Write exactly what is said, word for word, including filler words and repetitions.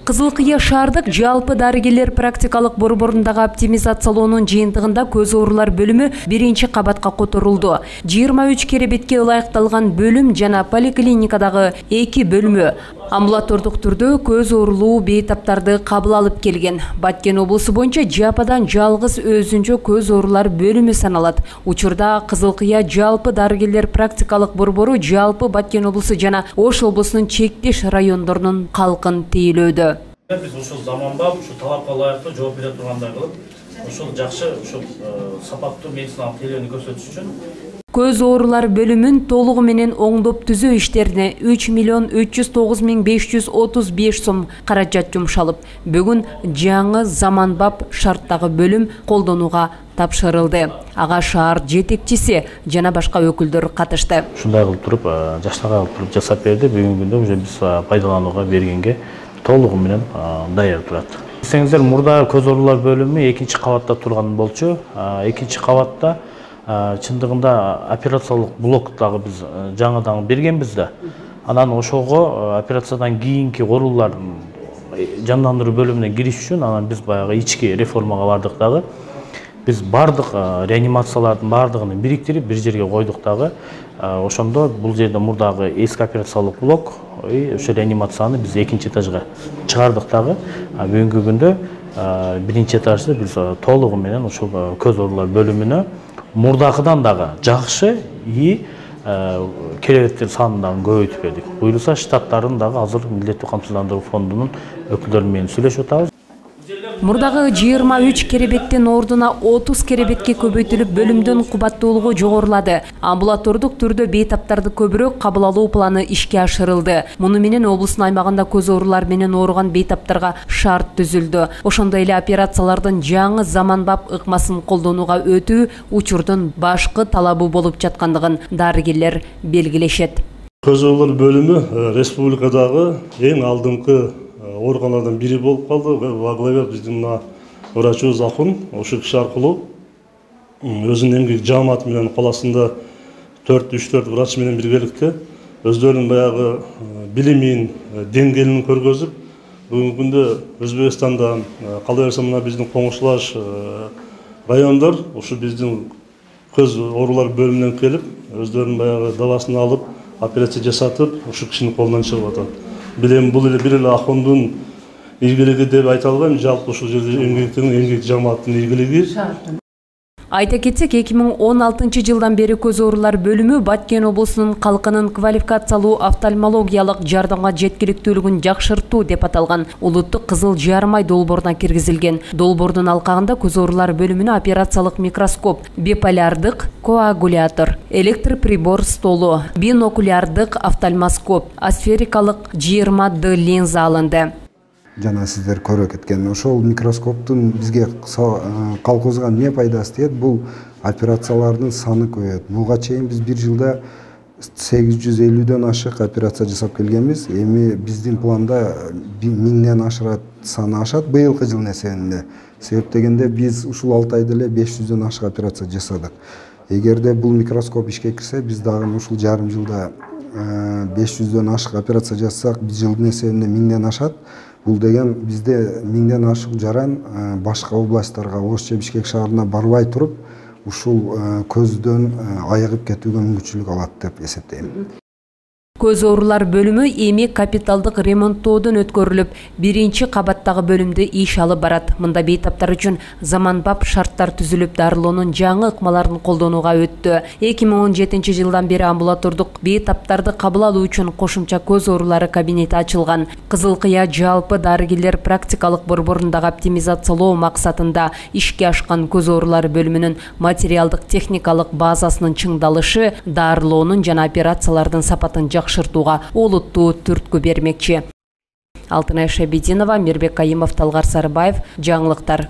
Кызыл Кыя шаардык жалпы дарыгерлер практикалык борборундагы оптимизациялоонун жыйынтыгында көз оорулар бөлүмү биринчи кабатка которулду. жыйырма үч керебетке ылайыкталган бөлүм жана поликлиникадагы эки бөлмө амбулатордук түрдө көз оорулуу бейтаптарды кабыл алып келген. Баткен облусу боюнча Жападан жалгыз өзүнчө көз оорулар бөлүмү саналат. Учурда Кызыл Кыя жалпы дарыгерлер практикалык борбору жалпы Баткен облусу жана Ош облусунун чектеш райондорунун калкын тейлөөдө. Биз ушул заманбап, ушул талапка ылайыктуу жооп бере тургандай кылып, ушул жакшы, ушул сапаттуу медициналык тейлөөнү көрсөтүш үчүн көз оорулар бөлүмүн толугу менен оңдоп түзөө иштерине үч миллион үч жүз тогуз миң беш жүз отуз беш сом каражат жумшалып, бүгүн жаңы заманбап шарттагы бөлүм колдонууга тапшырылды. Ага шаар жетекчиси жана башка өкүлдөр катышты. Ушундай кылып туруп, жаштарга кылып туруп жасап берди. Бүгүнкү күндө уже биз пайдаланууга бергенге толугу менен даяр турат. Десеңиздер, мурда көз оорулар бөлүмү экинчи кабатта турган болчу. Экинчи кабатта чындыгында операциялык блок дагы биз жаңыдан бергенбиз да. Анан ошого операциядан кийинки оорулардын жандандыруу бөлүмүнө кириш үчүн анан биз баягы ички реформага бардык дагы. Биз бардык реанимациялардын бардыгын бириктирип бир жерге койдук дагы. Ошондо бул жерде мурдагы эски операциялык блок, ошо реанимацияны биз экинчи этажга чыгардык дагы. Бүгүнкү күндө биринчи этажда биз толугу менен ушул көз оорулар бөлүмүнө мурдакыдан дагы жакшы и керебеттер санын дагы көбөйтүп бердик. Буюрса штаттарын дагы азыр Милдеттүү камсыздандыруу фондунун өкүлдөрү менен сүйлөшүп атабыз. Мурдагы жыйырма үч керебеттин ордуна отуз керебетке көбөйтүлүп, бөлүмдүн кубаттуулугу жогорулады. Амбулатордук түрдө бейтаптарды көбүрөөк кабыл алуу планы ишке ашырылды. Муну менен облустун аймагында көз оорулар менен ооруган бейтаптарга шарт түзүлдү. Ошондой эле операциялардын жаңы заманбап ыкмасын колдонууга өтүү учурдун башкы талабы болуп жаткандыгын дарыгерлер белгилешет. Көз оорулар бөлүмү республикадагы эң алдыңкы органдардан бири болуп калды. Во главе биздин врачыбыз Акун, ошол киши аркылуу өзүнүн эмгек жааматы менен каласында төрт үч төрт врач менен биргеликте өздөрүнүн баягы билимин, деңгээлин көргөзүп, бүгүнкү күндө Өзбекстанда калай берсе мына биздин коңшулаш райондор ушу биздин көз оорулар бөлүмүнөн келип, өздөрүнүн баягы дабасын алып, операция жасатып, ушул кишинин колунан чыгып атат. Билем бул эле бир эле Акундун ийгилиги деп айта албайм, жалпы ушул жерде эмгектин, эмгек жааматтын ийгилиги. Айта кетсек, эки миң он алтынчы жылдан бери көз оорулар бөлүмү Баткен облусунун калкынын квалификациялуу офтальмологиялык жардамга жеткиликтүүлүгүн жакшыртуу деп аталган улуттук кызыл жармай долбооруна киргизилген. Долбоордун алкагында көз оорулар бөлүмүнө операциялык микроскоп, биполярдык коагулятор, электроприбор столу, бинокулярдык офтальмоскоп, асферикалык жыйырма д линза алынды. Жана сиздер көрүп кеткен ошол микроскоптун бизге калкыбызга эмне пайдасы тиет? Бул операциялардын саны көбөйөт. Буга чейин биз бир жылда сегиз жүз элүүдөн ашык операция жасап келгенбиз. Эми биздин планда миңден ашырат саны ашат быйылкы жылдын эсебинде. Себеп дегенде биз ушул алты айда эле беш жүздөн ашык операция жасадык. Эгерде бул микроскоп ишке кирсе, биз дагы ушул жарым жылда беш жүздөн ашык операция жасасак, биз жылдын эсебинде миңден ашат. Бул деген бизде миңден ашык жаран башка областтарга, Ош же Бишкек шаарына барбай туруп, ушул көздөн айыгып кетүүгө мүмкүнчүлүк алат деп эсептейм. Көз оорулар бөлүмү эми капиталдык ремонттоодон өткөрүлүп, биринчи кабаттагы бөлүмдө иш алып барат. Мында бейтаптар үчүн заманбап шарттар түзүлүп, дарылоонун жаңы ыкмаларын колдонууга өттү. эки миң он жетинчи жылдан бери амбулатордук бейтаптарды кабыл алуу үчүн кошумча көз оорулары кабинети ачылган. Кызыл Кыя жалпы дарыгерлер практикалык борборундагы оптимизациялоо максатында ишке ашкан көз оорулары бөлүмүнүн материалдык техникалык базасынын чыңдалышы дарылоонун жана операциялардын сапатын жакшыртууга олуттуу түрткү бермекчи. Алтынай Шабидинова, Мирбек Кайымов, Талгар Сарыбаев, жаңылыктар.